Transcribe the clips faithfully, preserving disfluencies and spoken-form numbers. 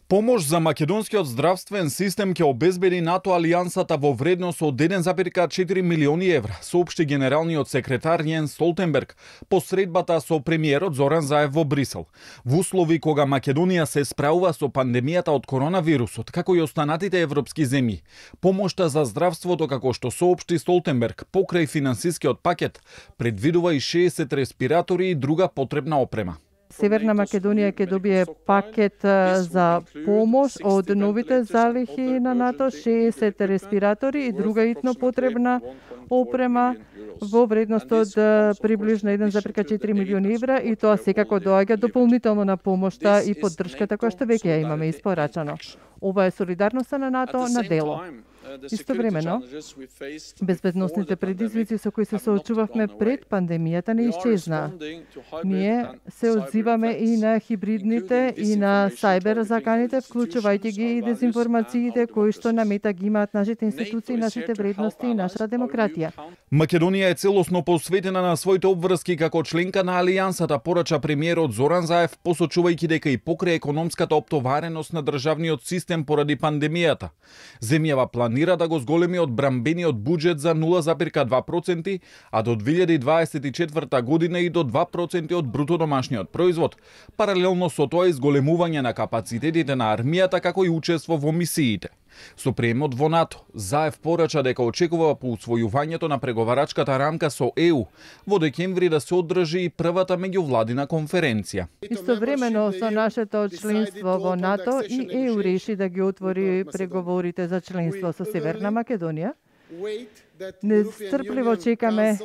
Помош за македонскиот здравствен систем ќе обезбеди НАТО алијансата во вредност од еден зарез четири милиони евра, соопшти генералниот секретар Јенс Столтенберг по средбата со премиерот Зоран Заев во Брисел. Во услови кога Македонија се справува со пандемијата од коронавирусот, како и останатите европски земји, помошта за здравството, како што соопшти Столтенберг, покрај финансискиот пакет, предвидува и шеесет респиратори и друга потребна опрема. Северна Македонија ќе добие пакет за помош од новите залихи на НАТО, шеесет респиратори и друга итно потребна опрема во вредност од приближно еден зарез четири милиони евра, и тоа секако доаѓа дополнително на помошта и поддршката која што веќе ја имаме испорачано. Ова е солидарноста на НАТО на дело. Истовремено, безбедносните предизвици со кои се соочувавме пред пандемијата не исчезнаа. Ние се одзиваме и на хибридните и на сајбер заканите, вклучувајќи ги и дезинформациите кои што намета ги имаат нашите институции, нашите вредности и нашата демократија. Македонија е целосно посветена на своите обврски како членка на алијансата, порача премиерот Зоран Заев, посочувајќи дека и покрај економската оптовареност на државниот систем поради пандемијата, земјава планира да го зголеми одбрамбениот буџет за нула зарез два проценти, а до две илјади дваесет и четврта година и до два проценти од бруто домашниот производ, паралелно со тоа изголемување на капацитетите на армијата како и учество во мисиите. Со приемот во НАТО, Заев порача дека очекува по усвојувањето на преговарачката рамка со Е У во декември да се одржи и првата меѓувладина конференција. Истовремено со нашето членство во НАТО и Е У реши да ги отвори преговорите за членство со Северна Македонија. Нестрпливо чекаме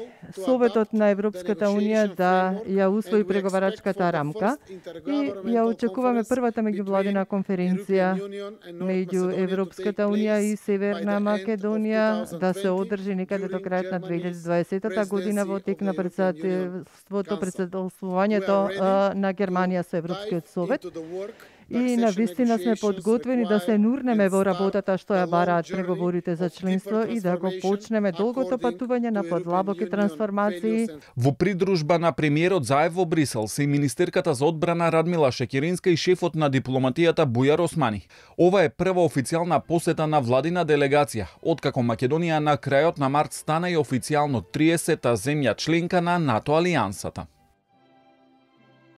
Советот на Европската Унија да ја усвои преговарачката рамка и ја очекуваме првата меѓувладина конференција меѓу Европската Унија и Северна Македонија да се одржи некаде до крајот на две илјади дваесета година во тек на председателството, председателствувањето на Германија со Европскиот совет. И навистина сме подготвени да се нурнеме во работата што ја бараат преговорите за членство и да го почнеме долгото патување на подлабоки трансформации. Во придружба на премиерот Заев во Брисел се и министерката за одбрана Радмила Шекеринска и шефот на дипломатијата Бујар Османи. Ова е прва официјална посета на владина делегација, откако Македонија на крајот на март стана и официјално триесета земја членка на НАТО алијансата.